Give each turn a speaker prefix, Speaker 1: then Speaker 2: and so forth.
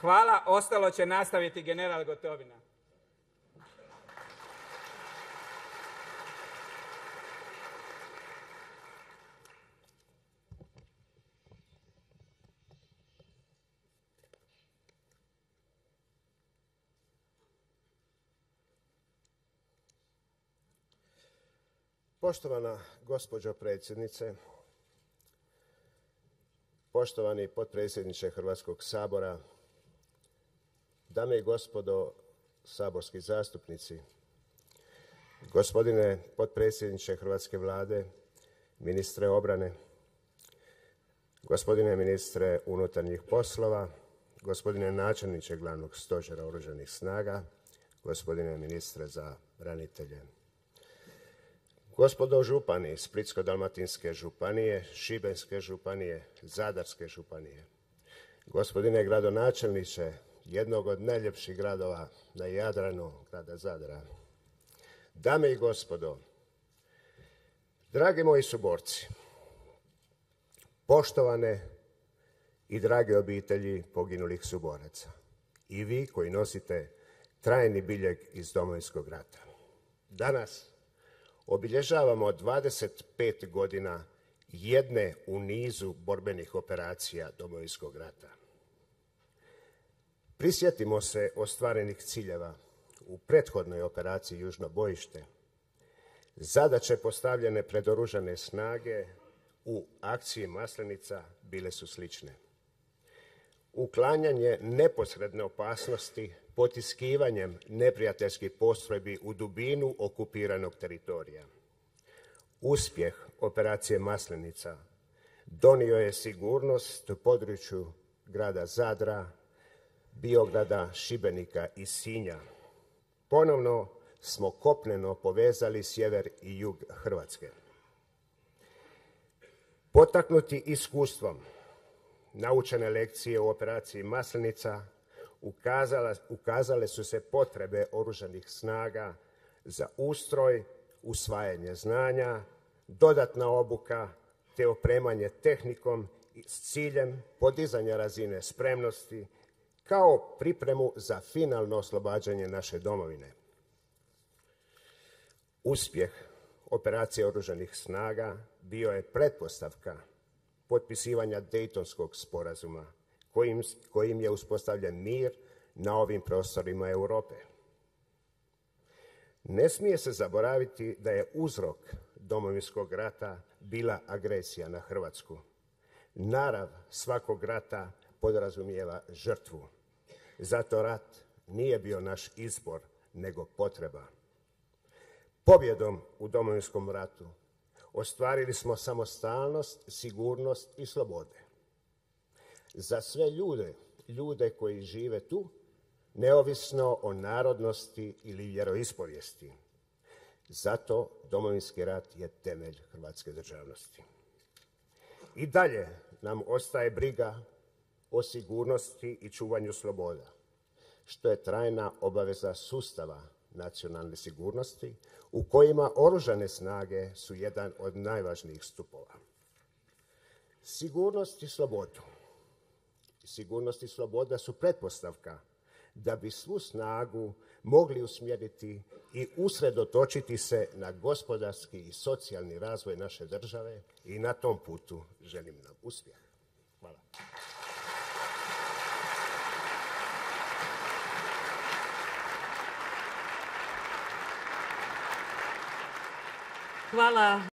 Speaker 1: Hvala, ostalo će nastaviti general Gotovina.
Speaker 2: Poštovana gospođo predsjednice, poštovani potpredsjedniče Hrvatskog sabora, dame i gospodo saborski zastupnici, gospodine potpredsjedniče Hrvatske vlade, ministre obrane, gospodine ministre unutarnjih poslova, gospodine načelniče Glavnog stožera Oružanih snaga, gospodine ministre za branitelje, gospodo župani Splitsko-dalmatinske županije, Šibenske županije, Zadarske županije, gospodine gradonačelniče jednog od najljepših gradova na Jadranu, grada Zadra, dame i gospodo, dragi moji suborci, poštovane i drage obitelji poginulih suboraca i vi koji nosite trajni biljeg iz Domovinskog rata. Danas obilježavamo 25 godina jedne u nizu borbenih operacija Domovinskog rata. Prisjetimo se ostvarenih ciljeva u prethodnoj operaciji Južno bojište. Zadaće postavljene pred Oružane snage u akciji Maslenica bile su slične. Uklanjanje neposredne opasnosti potiskivanjem neprijateljskih postrojbi u dubinu okupiranog teritorija. Uspjeh operacije Maslenica donio je sigurnost u području grada Zadra, Biograda, Šibenika i Sinja. Ponovno smo kopneno povezali sjever i jug Hrvatske. Potaknuti iskustvom, naučene lekcije u operaciji Maslenica ukazale su se potrebe Oružanih snaga za ustroj, usvajanje znanja, dodatna obuka te opremanje tehnikom s ciljem podizanja razine spremnosti kao pripremu za finalno oslobađanje naše domovine. Uspjeh operacije Oružanih snaga bio je pretpostavka potpisivanja Dejtonskog sporazuma kojim je uspostavljen mir na ovim prostorima Europe. Ne smije se zaboraviti da je uzrok Domovinskog rata bila agresija na Hrvatsku. Narav svakog rata podrazumijeva žrtvu. Zato rat nije bio naš izbor, nego potreba. Pobjedom u Domovinskom ratu ostvarili smo samostalnost, sigurnost i slobode. Za sve ljude koji žive tu, neovisno o narodnosti ili vjeroispovijesti. Zato Domovinski rat je temelj hrvatske državnosti. I dalje nam ostaje briga o sigurnosti i čuvanju sloboda, što je trajna obaveza sustava nacionalne sigurnosti u kojima Oružane snage su jedan od najvažnijih stupova. Sigurnost i sloboda su pretpostavka da bi svu snagu mogli usmjeriti i usredotočiti se na gospodarski i socijalni razvoj naše države i na tom putu želim nam uspjeh. Hvala.
Speaker 3: Hvala.